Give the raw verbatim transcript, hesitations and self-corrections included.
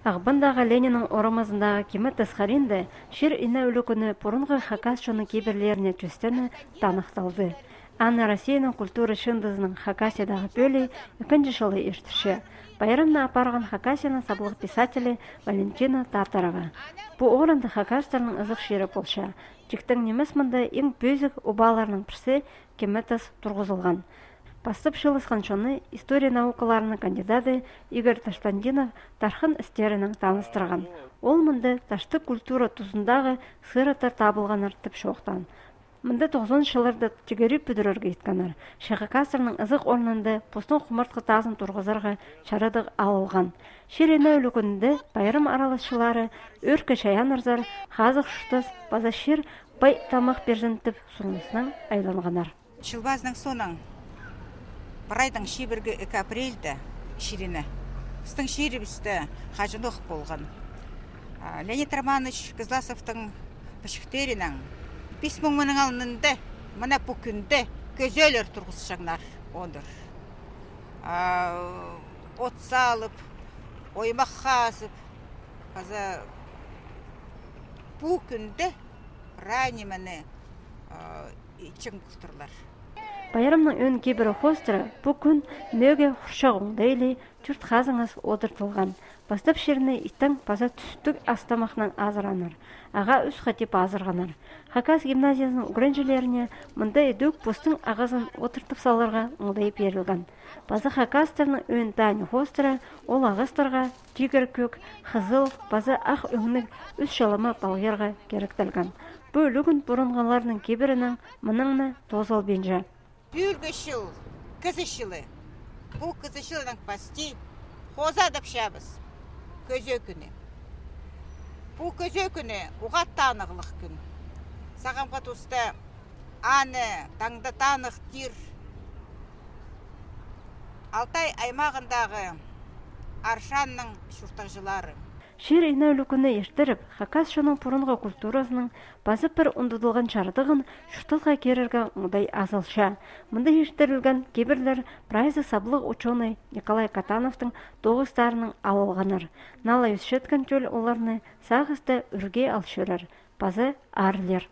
Ағбандағы Лениннің орамазындағы Киме тас хариинда чир-ине ӱлӱкӱні пурунғы хакас чонның кибірлеріне чӧстене таныхталды. Аны Россияның культура чыындызының Хакасиядағы пӧлии ікінҷі чылы иртірче. Пайрамны апарған Хакасияның саблығ писателі Валентина Татарова. Пу орында хакастарның ызых чирі полча. Тиктең нимес, мында иң пӧзік обаларның пірсі Киме тас турғызылған. Пастап чыылысхан чонны история наукаларының кандидаты Игорь Таштандинов тархын істерінең таныстырған. Ол мында таштығ культура тузындағы сыраттар табылғаннар тіп чоохтаан. Мында тоғызон чылларда тигірі пӱдірерге иткеннер. Че хакастарның ызых орнында постың хумартхы тазын турғызарға чарадығ алылған. Чир-ине ӱлӱкӱнінде пайрам араласчылары ӧӧркі чайааннарзар, хазых чуртас паза чир пай тамах пирзін тіп сурыныснаң айланғаннар. Чыл пазының соонаң, прайдаң чибіргі ікі апрельде чир-ине пістің чирібісте хаҷанох полған. А, Леонид Романович Кызласовтың пічіктерінең пис муң мының алнында, мына пу кӱнде кӧзеелер турғысчаңнар одыр. А, от салып, оймах хазып, паза пу кӱнде прай нимені, а, итчең полтырлар. Пайрамның ӧӧн кибірі хоостыра пу кӱн мӧөге хурчағ оңдайлығ чурт хазыңас одыртылған. Пастап чирні иттең паза тӱстіг ас-тамахнаң азыраннар. Ағаа ӱс хати пазырғаннар. Хакас гимназиязының ӱгренҷілеріне мында идӧк постың ағазын одыртып саларға оңдай пирілген. Паза хакастарның ӧӧн тааны хоостыра ол ағастарға тигір кӧк, хызыл паза ах ӧңніг ӱс чалама палғирға киректелген. Пу ӱлӱкӱн пурунғыларның кибірінең мыннаң на тоозылбинча. Пӱӱлгі чыл — кізі чылы. Пу кізі чылынаң пасти хоза адапчабыс Кӧзее кӱні. Пу Кӧзее кӱні уғаа танығлығ кӱн. Сағамғы туста аны таңда таныхтир Алтай аймағындағы Аршанның чуртағҷылары. Чир-ине ӱлӱкӱні иртіріп, хакас чонның пурунғы культуразының паза пір ундудылған чардығын чуртасха кирерге оңдай азылча. Мында иртірілген кибірлер прайзы саблығ учёный Николай Катановтың тоғыстарынаң алылғаннар. Налай ӧсчеткен тӧл оларны сағыста ӱрге ал чӧрер паза аарлир.